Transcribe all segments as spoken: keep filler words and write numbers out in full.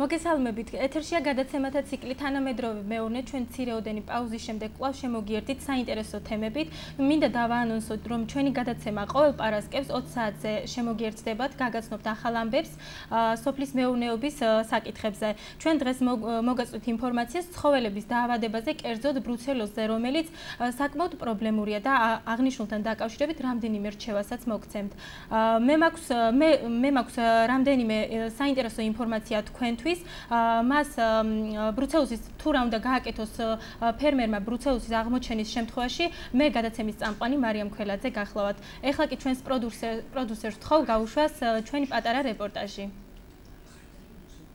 მოგესალმებით. ეთერშია გადაცემათა ციკლი თანამედროვე მეურნე. ჩვენ მცირეოდენი პაუზის შემდეგ კვლავ შემოგიერთით საინტერესო თემებით. მინდა დავაანონსოთ, რომ ჩვენი გადაცემა ყოველ პარასკევს ოცი საათზე შემოგიერთდებათ, გაგაცნობთ ახალ ამბებს სოფლის მეურნეობის საკითხებზე. ჩვენ დღეს მოგაწვით ინფორმაციას ცხოველების დაავადებაზე, კერძოდ ბრუცელოზზე, რომელიც საკმაოდ პრობლემურია და აღნიშნულთან დაკავშირებით რამდენიმე რჩევასაც მოგცემთ. მე მაქვს მე მე მაქვს რამდენიმე საინტერესო ინფორმაცია თქვენთვის. მას ბრუცელოზის თუ რა უნდა გააკეთოს ფერმერმა ბრუცელოზის აღმოჩენის შემთხვევაში, მე გადაცემის წამყვანი მარიამ ქველაძე გახლავთ. ეხლა კი ჩვენს პროდიუსერს ვთხოვ გაუშვას ჩვენი პატარა რეპორტაჟი.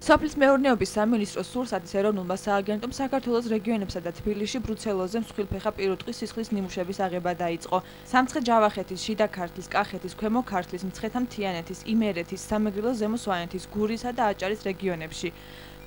სოფლის მეურნეობის სამინისტროს სურსათის ეროვნულმა სააგენტომ საქართველოს რეგიონებსა და თბილისში ბრუცელოზზე მსხვილფეხა პირუტყვის სისხლის ნიმუშების აღება დაიწყო. სამცხე-ჯავახეთის, შიდა ქართლის, კახეთის, ქვემო ქართლის, მცხეთა-მთიანეთის, იმერეთის, სამეგრელოს, ზემო სვანეთის, გურისა და აჭარის რეგიონებში.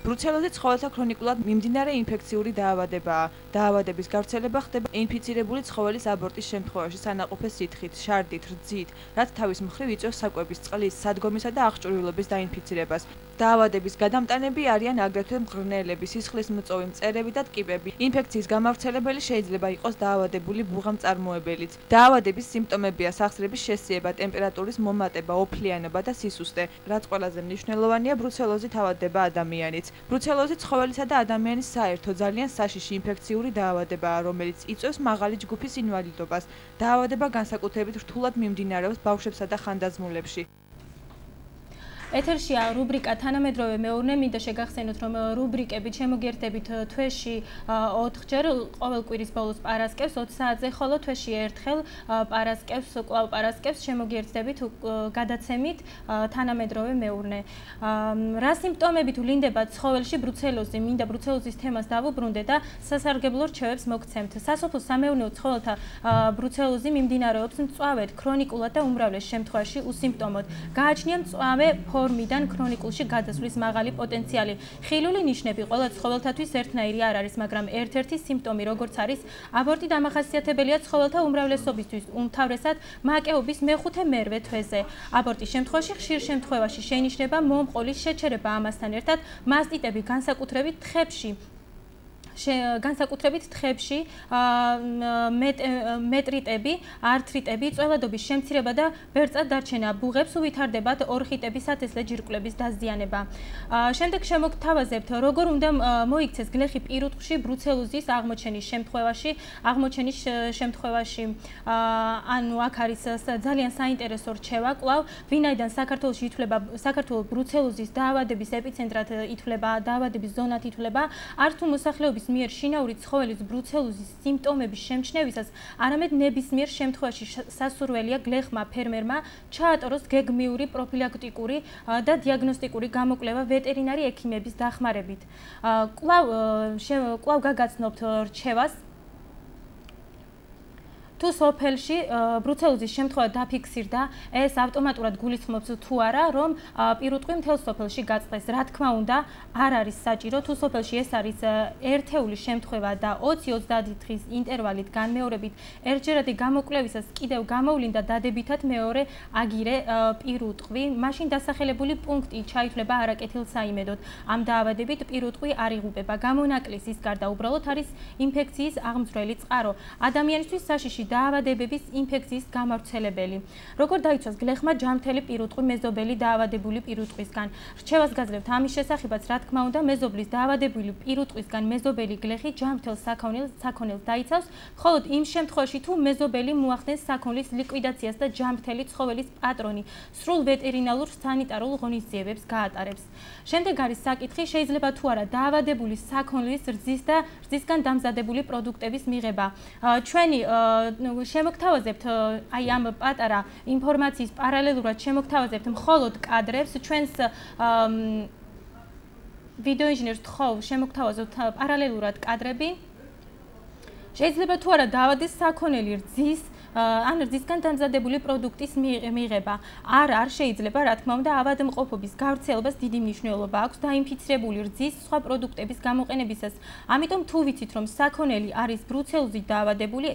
ბრუცელოზი ცხოველთა ქრონიკულად მიმდინარე ინფექციური დაავადებაა. დაავადების გავრცელება ხდება ინფიცირებული ცხოველის აბორტის შემთხვევაში სანაყოფე სითხით, შარდით, რძით, რაც თავის მხრივ იწვევს საკვების წყლის, სადგომისა და აღჭურვილობის დაინფიცირებას. დაავადების გადამტანები არიან აგრეთვე მღრღნელები, სისხლის მწოვი, მწერები და ტკიპები. ინფექციის გამავრცელებელი შეიძლება იყოს დაავადებული ბუღამწარმოებელიც. დაავადების სიმპტომებია სახსრების შესიება, ტემპერატურის მომატება, ოფლიანობა და სისუსტე. რაც ყველაზე მნიშვნელოვანია, ბრუცელოზით ავადდება ადამიანიც. ბრუცელოზი ცხოველისა და ადამიანის საერთო ძალიან საშიში ინფექციური დაავადებაა, რომელიც იწვევს მაღალი ჯგუფის ინვალიდობას. დაავადება განსაკუთრებით რთულად მიმდინარეობს ბავშვებსა და ხანდაზმულებში. ეთერშია რუბრიკა თანამედროვე მეურნე. მინდა შეგახსენოთ, რომ რუბრიკებით შემოგიერთდებით თვეში ოთხჯერ, ყოველ კვირის ბოლოს პარასკევს ოცი საათზე, ხოლო თვეში ერთხელ პარასკევს, კვლავ პარასკევს შემოგიერთდებით გადაცემით თანამედროვე მეურნე. რა სიმპტომები თუ ლინდება ცხოველში ბრუცელოზი? მინდა ბრუცელოზის თემას დავუბრუნდე და სასარგებლო რჩევებს მოგცემთ. სასოფლო სამეურნეო ცხოველთა ბრუცელოზი მიმდინარეობს მწვავედ, ქრონიკულად და უმრავლეს შემთხვევაში უსიმპტომოდ. გააჩნია მწვავე ფორმიდან ქრონიკულში გადასვლის მაღალი პოტენციალი. ხილული ნიშნები ყველა ცხოველთათვის ერთნაირი არ არის, მაგრამ ერთ-ერთი სიმპტომი, როგორც არის აბორტი, დამახასიათებელია ცხოველთა უმრავლესობისთვის, უმთავრესად მაკეობის მეხუთე მერვე თვეზე. აბორტის შემთხვევაში ხშირ შემთხვევაში შეინიშნება მომყოლის შეჩერება, ამასთან ერთად მასტიტები, განსაკუთრებით თხებში. განსაკუთრებით თხებში მეტრიტები, ართრიტები, წველადობის შემცირება და ბერწად დარჩენა, ბუღებს უვითარდებათ ორხიტების სათესლე ჯირკვლების დაზიანება. შემდეგ შემოგთავაზებთ, როგორ უნდა მოიქცეს გლეხი პირუტყვში ბრუცელოზის აღმოჩენის შემთხვევაში. აღმოჩენის შემთხვევაში ანუ აქ არის ძალიან საინტერესო რჩევა კვლავ, ვინაიდან საქართველოში ითვლება საქართველოს ბრუცელოზის დაავადების ეპიცენტრად ითვლება, დაავადების ზონად ითვლება, არც თუ მოსახლეობის მიერ შინაური ცხოველის ბრუცელოზის სიმპტომების შემჩნევისას, არამედ ნებისმიერ შემთხვევაში სასურველია გლეხმა ფერმერმა ჩაატაროს გეგმიური პროფილაქტიკური და დიაგნოსტიკური გამოკვლევა ვეტერინარი ექიმების დახმარებით. კვლავ კვლავ გაგაცნობთ რჩევას. თუ სოფელში ბრუცელოზის შემთხვევა დაფიქსირდა, ეს ავტომატურად გულისხმობს თუ არა, რომ პირუტყვი მთელ სოფელში გაწყდეს. რა თქმა უნდა, არ არის საჭირო, თუ სოფელში ეს არის ერთეული შემთხვევა და ოცი ოცდაათი დღის ინტერვალით განმეორებით ერთჯერადი გამოკვლევისას კიდევ გამოვლინდა დადებითად მეორე აგირე პირუტყვი, მაშინ დასახელებული პუნქტი ჩაითვლება არაკეთილსაიმედოდ. ამ დაავადებით პირუტყვი არ იღუპება. გამონაკლის ის გარდა უბრალოდ არის ინფექციის აღმძვრელი წყარო. ადამიანისთვის საშიში დაავადებების ინფექციის გამავრცელებელი. როგორ დაიცვას გლეხმა ჯამთელი პირუტყვი მეზობელი დაავადებული პირუტყვისგან? რჩევას გაძლევთ ამის შესახებაც, რა თქმა უნდა, მეზობლის დაავადებული პირუტყვისგან მეზობელი გლეხი ჯამთელ საქონელს საქონელს დაიცავს, მხოლოდ იმ შემთხვევაში, თუ მეზობელი მოახდენს საქონლის ლიკვიდაციას და ჯამთელი ცხოველის პატრონი სრულ ვეტერინარულ სანიტარულ ღონისძიებებს გაატარებს. შემდეგ არის საკითხი, შეიძლება თუ არა დაავადებული საქონლის რძის და რძისგან დამზადებული პროდუქტების მიღება. ჩვენი შემოგთავაზებთ აი ამ პატარა ინფორმაციის პარალელურად შემოგთავაზებთ მხოლოდ კადრებს. ჩვენს ვიდეო ინჟინერს თხოვ შემოგთავაზოთ პარალელურად კადრები. შეიძლება თუ არა დაავადეს საქონელი რძის ან რძისგან დამზადებული პროდუქტის მიღება. არ არ შეიძლება, რა თქმა უნდა, ავადმყოფობის გავრცელებას დიდი მნიშვნელობა აქვს დაინფიცირებული რძის სხვა პროდუქტების გამოყენებისას. ამიტომ თუ ვიცით, რომ საქონელი არის ბრუცელოზით დაავადებული,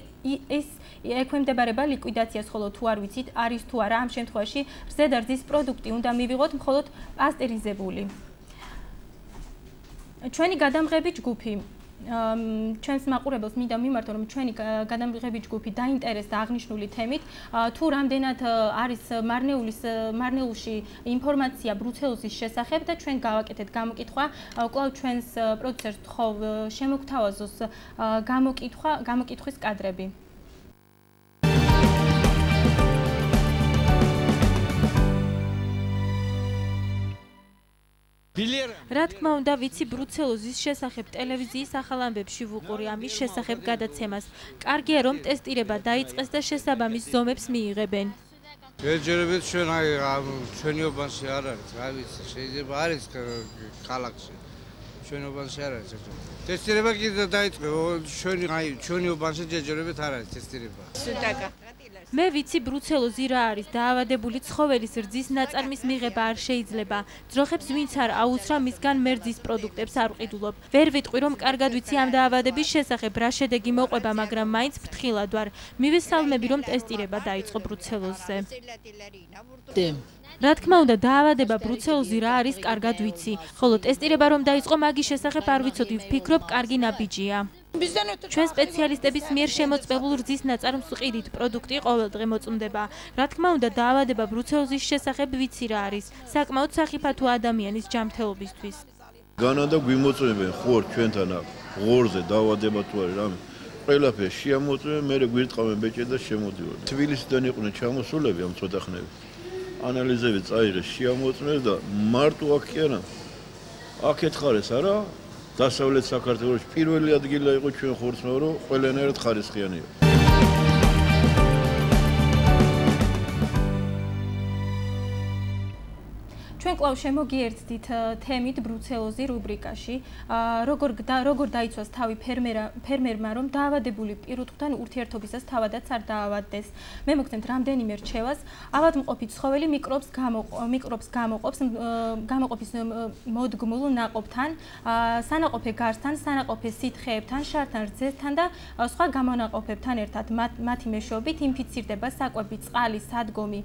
ეს ექვემდებარება ლიკვიდაციას, ხოლო თუ არ ვიცით, არის თუ არა, ამ შემთხვევაში რძე და რძის პროდუქტი უნდა მივიღოთ მხოლოდ პასტერიზებული. ჩვენი გადამღები ჯგუფი ჩვენს მაყურებელს მინდა მიმართო რომ ჩვენი გადამღები ჯგუფი დაინტერესდა აღნიშნული თემით თუ რამდენად არის მარნეულის მარნეულში ინფორმაცია ბრუცელოზის შესახებ და ჩვენ გავაკეთეთ გამოკითხვა კვლავ ჩვენს პროდიუსერს თხოვ შემოგთავაზოს გამოკითხვა გამოკითხვის კადრები რა თქმა უნდა, ვიცი ბრუცელოზის შესახებ ტელევიზიის ახალ ამბებში ვუყური ამის შესახებ გადაცემას. კარგია რომ ტესტირება დაიწყეს და შესაბამის ზომებს მიიღებენ. ჯერჯერობით ჩვენ აი ჩვენი უბანში არ არის, რა ვიცი, შეიძლება არის ქალაქში. ჩვენი უბანში არ არის. ტესტირება კიდე დაიწყო, ჩვენი აი ჩვენი უბანში ჯერჯერობით არ არის ტესტირება. სუდაკა მე ვიცი ბრუცელოზი რა არის დაავადებული ცხოველის რძის ნაწარმის მიღება არ შეიძლება ძროხებს ვინც არ აუცრა მისგან მერძის პროდუქტებს არ ვყიდულობ ვერ ვიტყვი რომ კარგად ვიცი ამ დაავადების შესახებ რა შედეგი მოყვება მაგრამ მაინც ფრთხილად ვარ მივესალმები რომ ტესტირება დაიწყო ბრუცელოზზე რა თქმა უნდა დაავადება ბრუცელოზი რა არის კარგად ვიცი ხოლო ტესტირება რომ დაიწყო მაგის შესახებ არ ვიცოდი ვფიქრობ კარგი ნაბიჯია ჩვენ სპეციალისტების მიერ შემოწმებულ რძის ნაწარმს ვყიდით პროდუქტი ყოველდღე მოწმდება რა თქმა უნდა დაავადება ბრუცელოზის შესახებ ვიცი რა არის საკმაოდ სახიფათო ადამიანის ჯანმრთელობისთვის განა და გვიმოწმებენ ხوار ჩვენთან ღორზე დაავადება თუ არის რამე ყველაფერს შეამოწმებენ მე გვირტყავენ ბეჭე და შემოდივარ თბილისიდან იყვნენ ჩამოსულები ამ ცოტა ხნები ანალიზები წაიღეს შეამოწმეს და მარტო აქ კი არა აქ ეთხარეს არა დასავლეთ საქართველოს პირველი ადგილი იყო ჩვენ ხორცმეო რომ ყველანაირად ხარისხიანია ჩვენ კვლავ შემოგიერთდით თემით ბრუცელოზი რუბრიკაში როგორ როგორ დაიცვას თავი ფერმერმა რომ დაავადებული პირუტყვთან ურთიერთობისას თავადაც არ დაავადდეს მე მოგცემთ რამდენიმე რჩევას ავადმყოფი ცხოველი მიკრობს მიკრობს გამოყოფს გამოყოფის მოდგმულ ნაყოფთან სანაყოფე გარსთან სანაყოფე სითხეებთან შართან რძესთან და სხვა გამონაყოფებთან ერთად მათი მეშვეობით ინფიცირდება საკვები წყალი სადგომი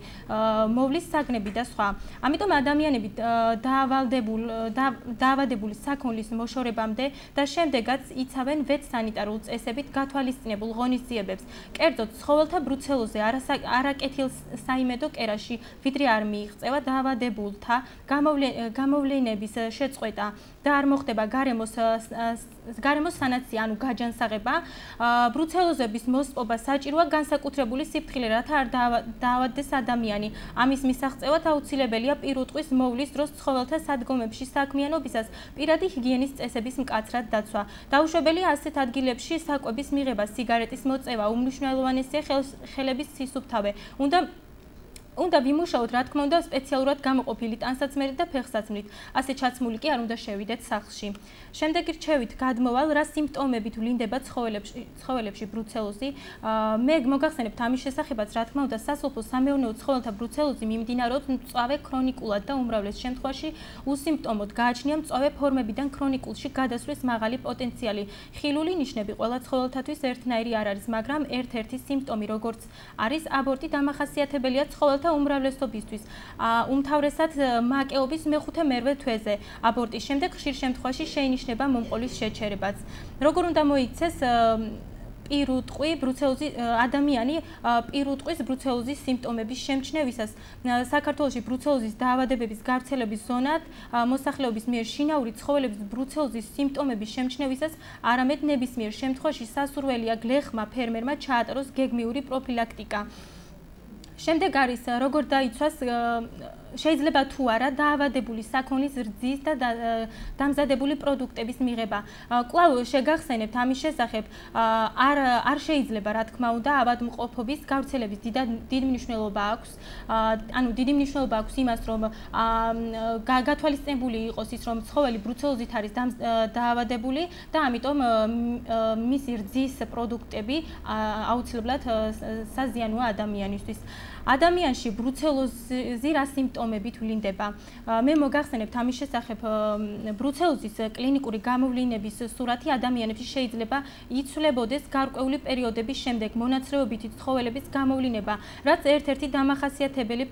მოვლის საგნები და სხვა ამიტომ ადამიანი დაავადებულ დაავადებული საქონლის მოშორებამდე და შემდეგაც იცავენ ვეტსანიტარულ წესებით გათვალისწინებულ ღონისძიებებს. კერძოდ, ცხოველთა ბრუცელოზე არაკეთილ საიმედო კერაში ვიდრე არ მიიღწევა დაავადებულთა გამოვლენების შეწყვეტა და არ მოხდება გარემოს გარემოს სანაცია, ანუ გაჯანსაღება, ბრუცელოზების მოსპობა საჭიროა განსაკუთრებული სიფრთხილე, რათა არ დაავადდეს ადამიანი. ამის მისაღწევად აუცილებელია პირუტყვის მოვლის დროს ცხოველთა სადგომებში საქმიანობისას პირადი ჰიგიენის წესების მკაცრად დაცვა. დაუშვებელია ასეთ ადგილებში საკვების მიღება, სიგარეტის მოწევა, უმნიშვნელოვანესია ხელების სისუფთავე. უნდა უნდა ვიმუშაოთ, რა თქმა უნდა, სპეციალურად გამოყოფილი ტანსაცმელით და ფეხსაცმლით. ასე ჩაცმული კი არ უნდა შევიდეთ სახლში. შემდეგი რჩევით გადმოვალ, რა სიმპტომებით ვლინდება ცხოველებში, ცხოველებში ბრუცელოზი. მე მოგახსენებთ ამის შესახებაც, რა თქმა უნდა, სასოფლო სამეურნეო ცხოველთა ბრუცელოზი მიმდინარეობს მწვავე ქრონიკულად და უმრავლეს შემთხვევაში უსიმპტომოდ გააჩნია მწვავე ფორმებიდან ქრონიკულში გადასვლის მაღალი პოტენციალი. ხილული ნიშნები ყველა ცხოველთათვის ერთნაირი არ არის, მაგრამ ერთ-ერთი სიმპტომი, როგორც არის აბორტი, დამახასიათებელია ცხოველთა უმრავლესობისთვის. უმთავრესად მაკეობის მეხუთე მერვე თვეზე. აბორტის შემდეგ ხშირ შემთხვევაში შეინიშნება მომყოლის შეჩერებაც. როგორ უნდა მოიქცეს პირუტყვი ბრუცელოზი ადამიანი პირუტყვის ბრუცელოზის სიმპტომების შემჩნევისას საქართველოში ბრუცელოზის დაავადებების გავრცელების ზონად მოსახლეობის მიერ შინაური ცხოველების ბრუცელოზის სიმპტომების შემჩნევისას არამედ ნებისმიერ შემთხვევაში სასურველია გლეხმა ფერმერმა ჩაატაროს გეგმიური პროფილაქტიკა. შემდეგ არის როგორ დაიცვას შეიძლება თუ არა დაავადებული საქონლის რძის და დამზადებული პროდუქტების მიღება. კვლავ შეგახსენებთ ამის შესახებ არ არ შეიძლება რა თქმა უნდა ავადმყოფობის გავრცელების დიდი მნიშვნელობა აქვს. ანუ დიდი მნიშვნელობა აქვს იმას რომ გათვალისწინებული იყოს ის რომ ცხოველი ბრუცელოზით არის დაავადებული და ამიტომ მისი რძის პროდუქტები აუცილებლად საზიანოა ადამიანისთვის. ადამიანში ბრუცელოზი რა სიმპტომებით ვლინდება? მე მოგახსენებთ ამის შესახებ ბრუცელოზის კლინიკური გამოვლინების სურათი ადამიანებში შეიძლება იცვლებოდეს გარკვეული პერიოდების შემდეგ მონაცრეობითი ცხოველების გამოვლინება, რაც ერთ-ერთი დამახასიათებელი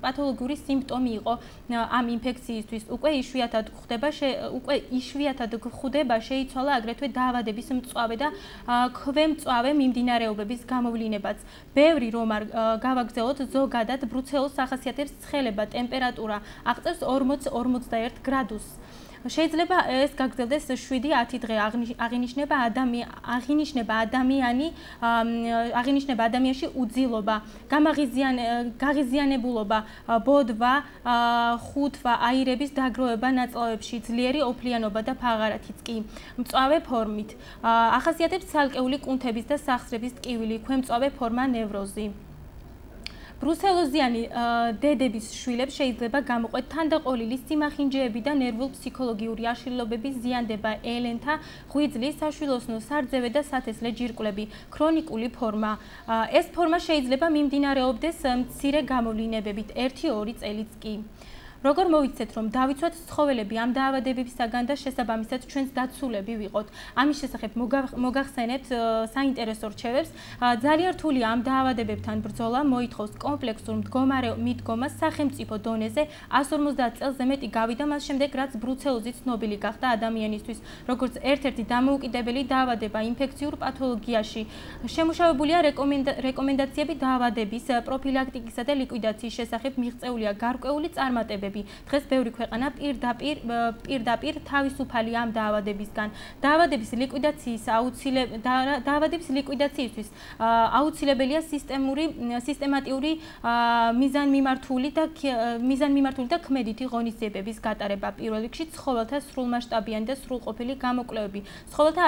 პათოლოგიური სიმპტომი იყო ამ ინფექციისთვის. უკვე იშვიათად ხდება, უკვე იშვიათად გვხვდება შეიცვალა აგრეთვე დაავადების მწვავე და ქვემწვავე მიმდინარეობების გამოვლინებაც. ბევრი რომ არ გავაგზავნოთ, ზოგადად ბრუცელოზს ახასიათებს ცხელება, ტემპერატურა აღწევს ორმოც ორმოცდაერთ გრადუსს. შეიძლება ეს გაგრძელდეს შვიდი ათი დღე, აღინიშნება ადამიანი, აღინიშნება ადამიანი, აღინიშნება ადამიანში უძილობა, გაღიზიანებულობა, ბოდვა, ხუთვა, აირების დაგროვება ნაწლავებში, ძლიერი ოფლიანობა და ფაღარათიც კი მწვავე ფორმით. ახასიათებს ცალკეული კუნთების და სახსრების ტკივილი, ქვემწვავე ფორმა ნევროზი. ბრუსელოზიანი დედების შვილებს შეიძლება გამოყვეთ თანდაყოლილი სიმახინჯეები და ნერვულ-ფსიქოლოგიური აშლილობების ზიანდება, ელენთა, ღვიძლის, საშვილოსნო სარძევე და სათესლე ჯირკვლები, ქრონიკული ფორმა. ეს ფორმა შეიძლება მიმდინარეობდეს მცირე გამოვლინებებით, ერთი ორი წელიც კი. როგორ მოვიცეთ, რომ დავიცვათ ცხოველები ამ დაავადებებისაგან და შესაბამისად ჩვენს დაცულები ვიყოთ. ამის შესახებ მოგახსენებთ საინტერესო რჩევებს. ძალიან რთულია ამ დაავადებებთან ბრძოლა, მოითხოვს კომპლექსურ მიდგომას სახელმწიფო დონეზე. εκατს ორმოცდაათ წელზე მეტი გავიდა მას შემდეგ, რაც ბრუცელოზი ცნობილი გახდა ადამიანისთვის, როგორც ერთ-ერთი დამოუკიდებელი დაავადება ინფექციურ პათოლოგიაში. შემუშავებულია რეკომენდაციები დაავადების პროფილაქტიკისა და ლიკვიდაციის შესახებ, მიღწეულია გარკვეული წარმატებები. დღეს ბევრი ქვეყანა პირდაპირ პირდაპირ თავისუფალია ამ დაავადებისგან. დაავადების ლიკვიდაციის დაავადების ლიკვიდაციისთვის აუცილებელია სისტემური სისტემატიური მიზანმიმართული და მიზანმიმართული და ქმედითი ღონისძიებების გატარება. პირველ რიგში ცხოველთა სრულმასშტაბიანი და სრულყოფილი გამოკვლევები. ცხოველთა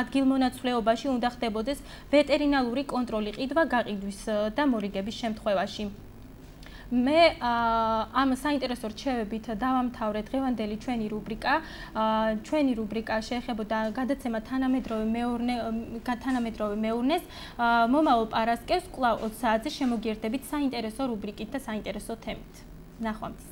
ადგილმონაცვლეობაში უნდა ხდებოდეს ვეტერინალური კონტროლი ყიდვა გაყიდვის და მორიგების შემთხვევაში. მე ამ საინტერესო რჩევებით დავამთავრე დღევანდელი ჩვენი რუბრიკა. ჩვენი რუბრიკა შეეხებოდა გადაცემა თანამედროვე მეურნეს. მომავალ პარასკევს კვლავ ოცი საათზე შემოგიერთდებით საინტერესო რუბრიკით და საინტერესო თემით. ნახვამდის.